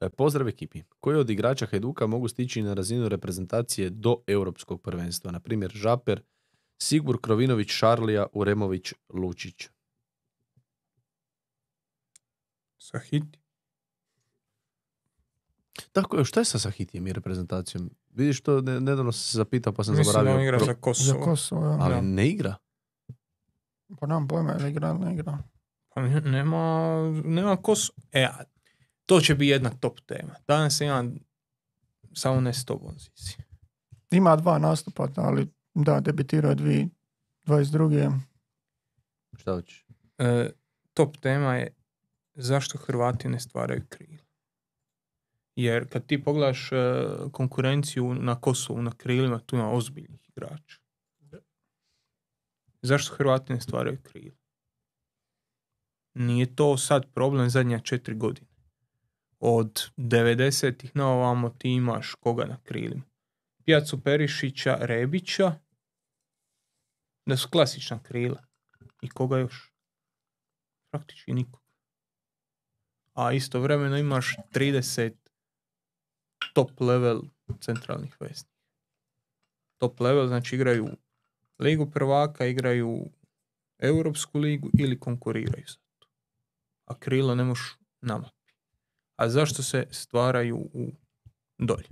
Pozdrav ekipi. Koji od igrača Hajduka mogu stići na razinu reprezentacije do europskog prvenstva? Na primjer Žaper, Sigur Krovinović, Šarlija, Uremović, Lučić. Sahiti. Tako je, šta je sa Sahitijem i reprezentacijom? Vidiš to, nedavno sam se zapitao pa sam zaboravio. Mislim da on igra za Kosovo. Za Kosovo, ja. Ali Da. ne igra. Pa nam pojma je li igra ili ne igra. Pa nema Kosovo. To će biti jedna top tema. Danas imam samo ne s tobom, Zizi. Ima 2 nastupa, ali da, debitirao je 2022. Šta hoćeš? Top tema je zašto Hrvati ne stvaraju krila. Jer kad ti pogledaš konkurenciju na Kosovu, na krilima, tu ima ozbiljnih igrača. Zašto Hrvati ne stvaraju krila? Nije to sad problem zadnja 4 godine. Od 90-ih na ovamo ti imaš koga na krilima? Pjacu Perišića, Rebića, da su klasična krila. I koga još? Praktički nikog. A istovremeno imaš 30 top level centralnih veznika. Top level znači igraju Ligu prvaka, igraju Europsku ligu ili konkuriraju za to. A krila ne možeš na mapi. A zašto se stvaraju u dolje?